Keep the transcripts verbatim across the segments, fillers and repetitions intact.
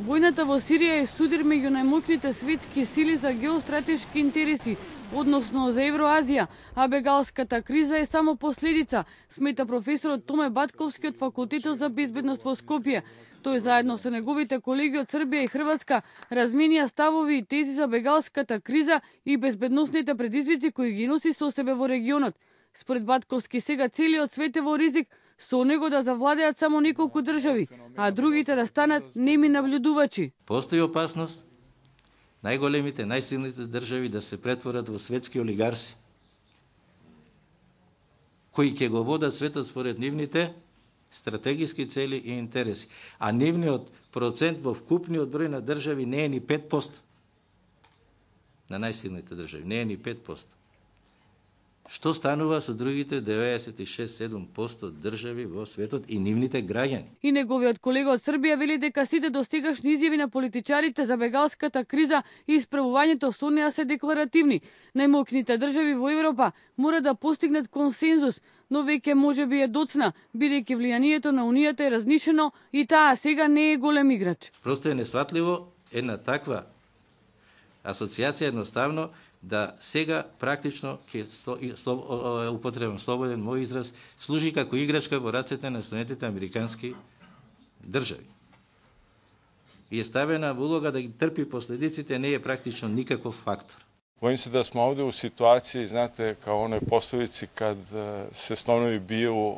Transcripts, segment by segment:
Војната во Сирија е судир меѓу најмоќните светски сили за геостратешки интереси, односно за Евроазија, а бегалската криза е само последица, смета професорот Томе Батковски од Факултетот за безбедност во Скопје. Тој заедно со неговите колеги од Србија и Хрватска разменија ставови и тези за бегалската криза и безбедносните предизвици кои ги носи со себе во регионот. Според Батковски сега целиот свет е во ризик, со него да завладеат само неколку држави, а другите да станат неми наблюдувачи. Постои опасност најголемите, најсилните држави да се претворат во светски олигарси, кои ќе го водат светот според нивните стратегиски цели и интереси. А нивниот процент во вкупниот број на држави не е ни пет проценти. На најсилните држави не е ни пет проценти. Што станува со другите деветдесет и шест до седум проценти држави во светот и нивните граѓани? И неговиот колега од Србија вели дека сите достигашни изјави на политичарите за бегалската криза и исправувањето со неа се декларативни. Најмоќните држави во Европа мора да постигнат консензус, но веќе можеби е доцна, бидејќи влијанието на Унијата е разнишено и таа сега не е голем играч. Просто е несватливо една таква асоциација едноставно да сега практично ќе употребам слободен мој израз, служи како играчка во рацете на Соединетите американски држави. И е ставена во улога да ги трпи последиците, не е практично никаков фактор. Bojim se da smo ovde u situaciji, znate, kao onoj poslovici kad se slonovi biju,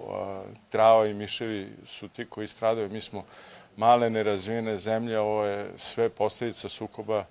trava i miševi su ti koji stradaju. Mi smo male, nerazvijene zemlje, ovo je sve posljedica sukoba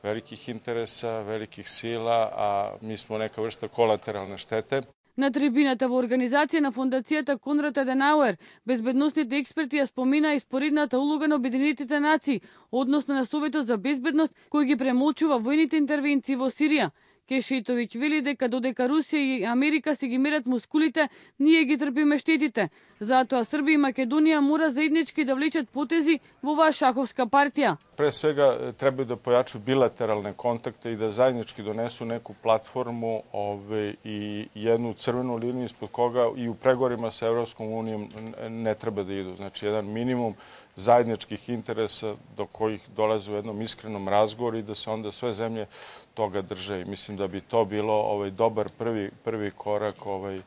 velikih interesa, velikih sila, a mi smo neka vrsta kolateralne štete. На трибината во организација на Фондацијата Конрад Аденауер, безбедносните експерти ја спомина и споредната улога на Обединетите нации, односно на Советот за безбедност, кој ги премолчува војните интервенции во Сирија. Кешетовиќ вели дека додека Русија и Америка се ги мерат мускулите, ние ги трпиме штетите. Затоа Србија и Македонија мора заеднички да влечат потези во оваа шаховска партија. Pre svega trebaju da pojaču bilateralne kontakte i da zajednički donesu neku platformu ove, i jednu crvenu liniju ispod koga i u pregovorima sa Evropskom unijom ne treba da idu. Znači, jedan minimum zajedničkih interesa do kojih dolaze u jednom iskrenom razgovoru i da se onda sve zemlje toga drže. I mislim da bi to bilo ovaj, dobar prvi, prvi korak, ovaj,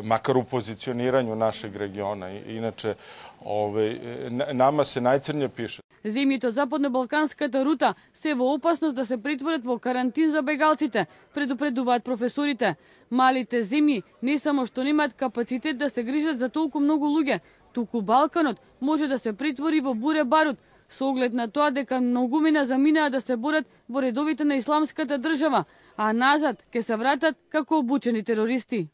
makar u pozicioniranju našeg regiona. Inače, ovaj, nama se najcrnje piše. Земјите од западно-балканската рута се во опасност да се претворат во карантин за бегалците, предупредуваат професорите. Малите земји не само што немаат капацитет да се грижат за толку многу луѓе, туку Балканот може да се претвори во буре барут, со оглед на тоа дека многумина заминаа да се борат во редовите на исламската држава, а назад ќе се вратат како обучени терористи.